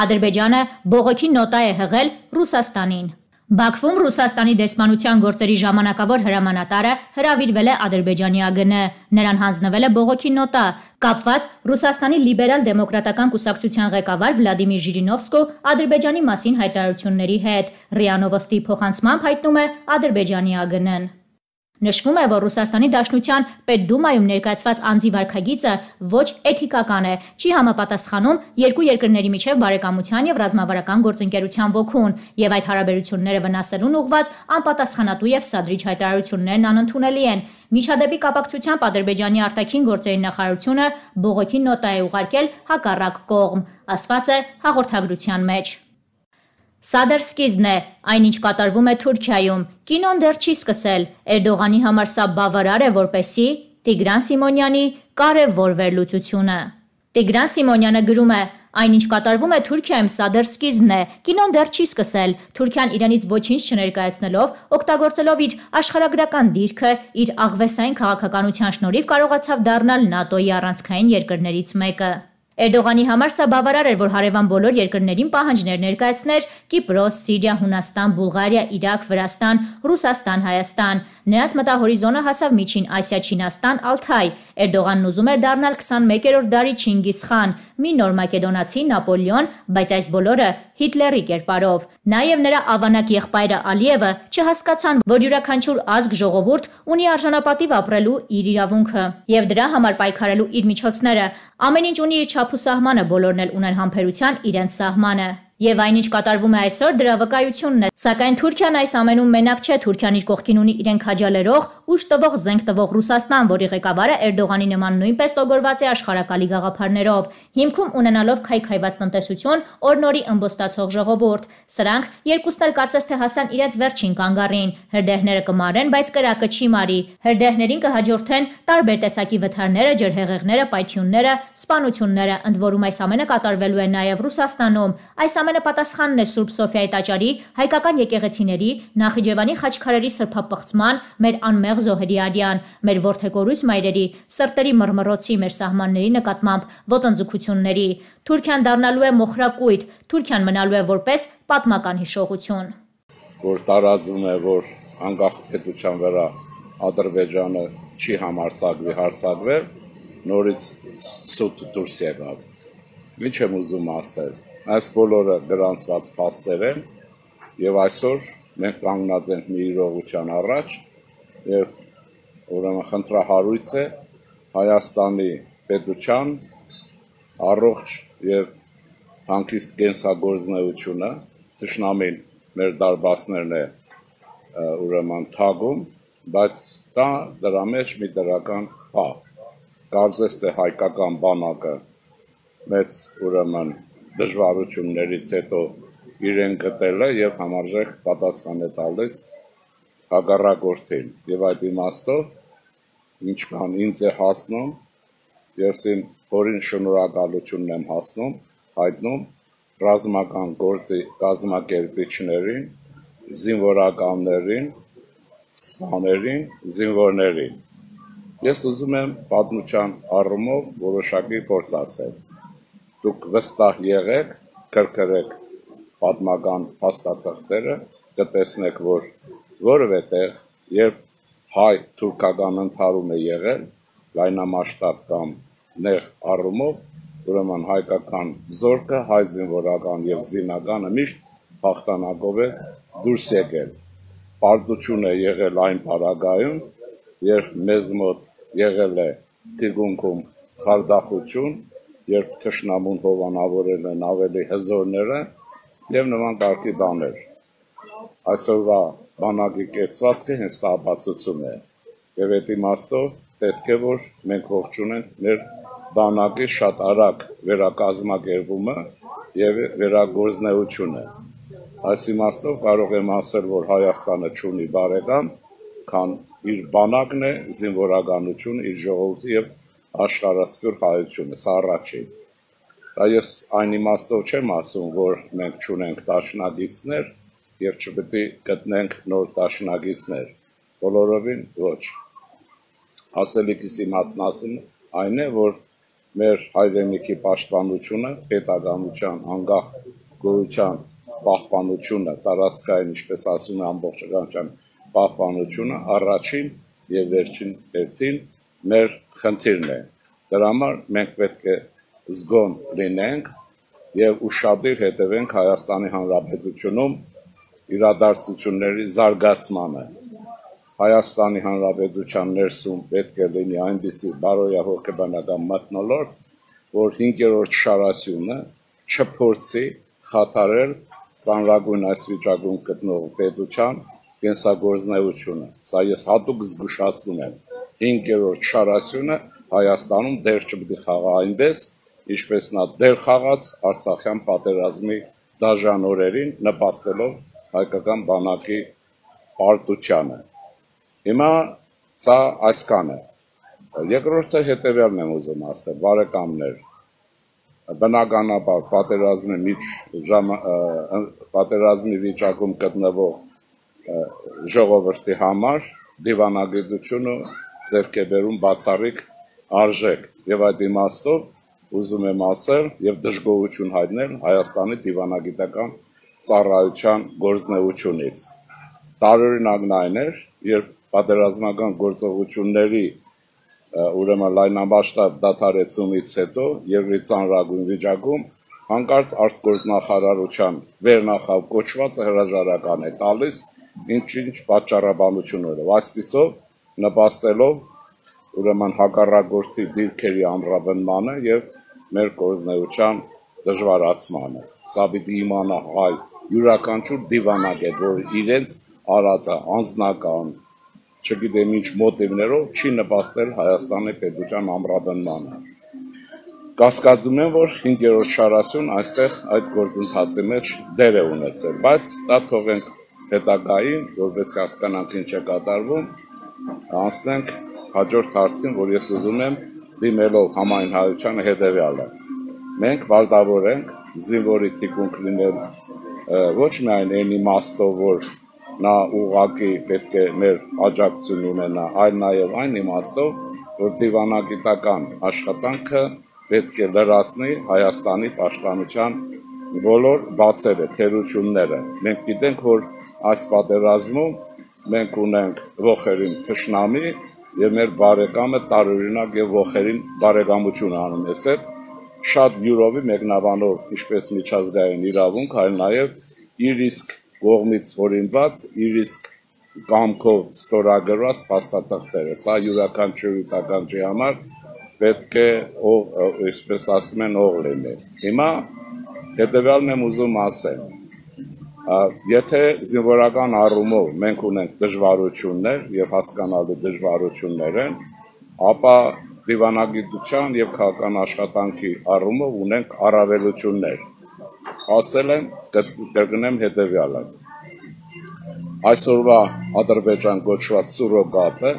Ադրբեջանը բողոքի նոտա է հղել Ռուսաստանին։ Բաքվում Ռուսաստանի դեսպանության գործերի ժամանակավոր հրամանատարը հրավիրվել է Ադրբեջանի ԱԳՆ, նրան հանձնվել է բողոքի նոտա, կապված Ռուսաստանի լիբերալ-դեմոկրատական կուսակցության ղեկավար Վլադիմիր Ժիրինովսկու Ադրբեջանի մասին հայտարարությունների հետ, ՌԻԱ Նովոստի փոխանցմամբ հայտնում է Ադրբեջանի ԱԳՆ-ն։ Նշվում է, որ Ռուսաստանի Դաշնության Պետդումայում ներկայացված անձի վարքագիծը ոչ էթիկական է, չի համապատասխանում երկու երկրների միջև բարեկամության եւ ռազմավարական գործընկերության ոգուն, եւ այդ հարաբերությունները վնասելուն ուղղված անպատասխանատու եւ սադրիչ հայտարարություններն անընդունելի են։ Միջադեպի կապակցությամբ Ադրբեջանի արտաքին գործերի նախարարությունը բողոքի նոտա է ուղարկել հակառակ կողմ, ասված է հաղորդագրության մեջ։ Սա դեռ սկիզբն է, այնինչ կատարվում է Թուրքիայում, կինոն դեռ չի սկսել, Էրդողանի համար սա բավարար է որպեսզի Տիգրան Սիմոնյանի կարևոր վերլուծությունը։ Տիգրան Սիմոնյանը գրում է. Այնինչ կատարվում է Թուրքիայում, սա դեռ սկիզբն է, կինոն դեռ չի սկսել, Թուրքիան իրենից ոչինչ չներկայացնելով, օգտագործելով իր աշխարհագրական դիրքը, իր աղվեսային քաղաքականության շնորհիվ կարողացավ դառնալ ՆԱՏՕ-ի առանցքային երկրներից մեկը։ Էրդողանի համար սա բավարար էր, որ հարևան բոլոր երկրներին պահանջներ ներկայացներ Կիպրոս, Սիրիա, Հունաստան, Բուլղարիա, Իրաք, Վրաստան, Ռուսաստան, Հայաստան։ Նրանց մտահորիզոնը հասավ Միջին Ասիա, Չինաստան, Ալթայ։ Էրդողանն ուզում էր դառնալ 21-րդ դարի Չինգիզ խան, մի նոր մակեդոնացի Նապոլեոն, բայց այս բոլորը Հիտլերի կերպարով։ Նաև նրա ավանակ եղբայրը Ալիևը չհասկացան, որ յուրաքանչյուր ազգ ժողովուրդ ունի արժանապատիվ ապրելու իր իրավունքը եւ դրա համար պայքարելու իր միջոցները։ Ամեն ինչ ունի իր չափուսահմանը, բոլորն էլ ունեն համբերության իրենց սահմանը։ Եվ այնինչ կատարվում է այսօր դրա վկայությունն է, սակայն Թուրքիան այս ամենում մենակ չէ, Թուրքիան իր կողքին ունի իրեն քաջալերող, ուժ տվող, զենք տվող Ռուսաստան, որի ղեկավարը Էրդողանի նման նույնպես տոգորված է աշխարհակալի գաղափարներով, հիմքում ունենալով քայքայված տնտեսություն, օր-նորի ըմբոստացող ժողովուրդ։ Սրանք երկուսն էլ կարծես թե հասան իրենց վերջին կանգառին, հրդեհները կմարեն, բայց կրակը չի մարի, հրդեհներին կհաջորդեն տարբեր տեսակի վթարները, ջրհեղեղները, պայթյունները, սպանությունները, ընդ որում այս ամենը կատարվելու է նաև Ռուսաստանում։ Այս ամենը պատասխանն է Սուրբ Սոֆիայի տաճարի, հայկական եկեղեցիների, Նախիջևանի խաչքարերի սրբապղծման, մեր անմեղ զոհերի արյան, մեր որդեգորույս մայրերի, սրտերի մռմռոցի, մեր սահմանների նկատմամբ ոտնձգությունների։ Թուրքիան դառնալու է մոխրակույտ, Թուրքիան մնալու է որպես պատմական հիշողություն։ Որ տարածվում է, որ անկախ պետության վրա Ադրբեջանը չի համարձակվի հարձակվել, նորից սուտ դուրս եկավ։ Ինչ եմ ուզում ասել։ Այս բոլորը գրանցված փաստեր են եւ այսօր մենք կանգնած ենք մի իրողության առաջ եւ ուրեմն խնդրահարույց է Հայաստանի պետության առողջ եւ հանգիստ կենսագործունեությունը թշնամին մեր դարբասներն է ուրեմն թագում, բայց դա դրա մեջ մի դրական բան կարծես թե հայկական բանակը մեծ ուրեմն դժվարություններից հետո իրեն գտել է եւ համարժեք պատասխան է տալիս հակառակորդին եւ այդ իմաստով ինչքան ինձ է հասնում ես իմ օրին շնորհակալությունն եմ հայտնում ռազմական գործի կազմակերպիչներին, զինվորականներին, սպաներին, զինվորներին։ Ես ուզում եմ պատմության առումով որոշակի փորձ ասել։ Դուք վստահ եղեք, քրքրեք պատմական փաստաթղթերը, կտեսնեք, որ որևէ տեղ, երբ հայ-թուրքական ընդհարում է եղել, լայնամասշտաբ կամ նեղ առումով, ուրեմն հայկական զորքը, հայ զինվորական եւ զինականը միշտ հաղթանակով է դուրս եկել։ Պարտություն է եղել այն պարագայում, երբ մեզ մոտ եղել է թիկունքում խարդախություն, երբ թշնամուն հովանավորել են ավելի հզորները եւ նման կարգի բաներ։ Այսօրվա բանակի կեցվածքը հենց դա ապացուցում է։ Եվ այդ իմաստով պետք է որ մենք ողջունենք մեր բանակի շատ արագ վերակազմակերպումը եւ վերագործնեությունը։ Այս իմաստով կարող եմ ասել, որ Հայաստանը չունի բարեկամ, քան իր բանակն է, զինվորականություն, իր ժողովուրդը եւ աշխարհասփյուր հայությունը, սա առաջին։ Դա ես այն իմաստով չեմ ասում, որ մենք չունենք դաշնակիցներ եւ չպետք է գտնենք նոր դաշնակիցներ։ Բոլորովին ոչ։ Ասելիքս իմաստն ասում այն է, որ մեր հայրենիքի պաշտպանությունը, պետականության, անկախ գոյության պահպանությունը, տարածքային, ինչպես ասում է, ամբողջականության պահպանությունը առաջին եւ վերջին հերթին մեր խնդիրն է։ Դրա համար մենք պետք է զգոն լինենք եւ ուշադիր հետևենք Հայաստանի Հանրապետությունում իրադարձությունների զարգացմանը։ Հայաստանի Հանրապետության ներսում պետք է լինի այնպիսի բարոյահոգեբանական մթնոլորտ, որ 5-րդ շարասյունը չփորձի խաթարել ծանրագույն այս վիճակում գտնող պետության կենսագործունեությունը։ Սա ես հատուկ զգուշացնում եմ։ 5-րդ շարասյունը Հայաստանում դեր չպետք է խաղա այնպես, ինչպես նա դեր խաղաց Արցախյան պատերազմի դաժան օրերին, նպաստելով հայկական բանակի պարտությանը։ Հիմա սա այսքան է։ Երկրորդը հետևյալն եմ ուզում ասել, բարեկամներ, բնականաբար պատերազմի վիճակում գտնվող ժողովրդի համար դիվանագիտությունը ձեռք է բերում բացառիկ արժեք եւ այդ իմաստով ուզում եմ ասել եւ դժգոհություն հայտնել Հայաստանի դիվանագիտական ծառայության գործունեությունից։ Տարօրինակն այն էր, երբ պատերազմական գործողությունների ուրեմն լայնամասշտաբ դադարեցումից հետո երկրի ծանրագույն վիճակում հանկարծ արտգործնախարարության վերնախավ կոչվածը հրաժարական է տալիս ինչ պատճառաբանություններով, այսպիսով նպաստելով ուրեմն հակառակորդի դիրքերի ամրապնդմանը եւ մեր գործունեության դժվարացմանը։ Սա պիտի իմանա հայ յուրաքանչյուր դիվանագետ, որ իրենց արածը անձնական, չգիտեմ ինչ մոտիվներով չի նպաստել Հայաստանի պետության ամրապնդմանը։ Կասկածում եմ, որ 5-րդ շարասյուն այստեղ այդ գործընթացի մեջ դեր է ունեցել, բայց դա թողենք հետագային, որովհետեւ հասկանանք ինչ է կատարվում, անցնենք հաջորդ հարցին, որ ես ուզում եմ դիմելով համայն հայությանը հետևյալը։ Մենք վարտավոր ենք զինվորի թիկունք լինել ոչ միայն այն իմաստով, որ նա ուղղակի պետք է մեր աջակցություն ունենա, այլ նաև այն իմաստով, որ դիվանագիտական աշխատանքը պետք է լրացնի Հայաստանի պաշտպանության բոլոր բացերը, թերությունները։ Մենք գիտենք, որ այս պատերազմում մենք ունենք ողերին թշնամի եւ մեր բարեկամը տարօրինակ եւ ողերին բարեկամություն անում է այդ շատ յուրովի մեկնաբանով, ինչպես միջազգային իրավունք, այլ նաեւ իր իսկ կողմից օրինված, իր իսկ կամքով ստորագրված փաստաթղթերը։ Սա յուրաքանչյուր տականջի համար պետք է այսպես ասում են օղ լինի։ Հիմա հետևյալն եմ ուզում ասել։ Եթե զինվորական առումով մենք ունենք դժվարություններ եւ հասկանալի դժվարություններ են, ապա դիվանագիտության եւ քաղաքական աշխատանքի առումով ունենք առավելություններ։ Ասել եմ, կրկնեմ հետևյալը։ Այսօրվա Ադրբեջան կոչված սուրոգատը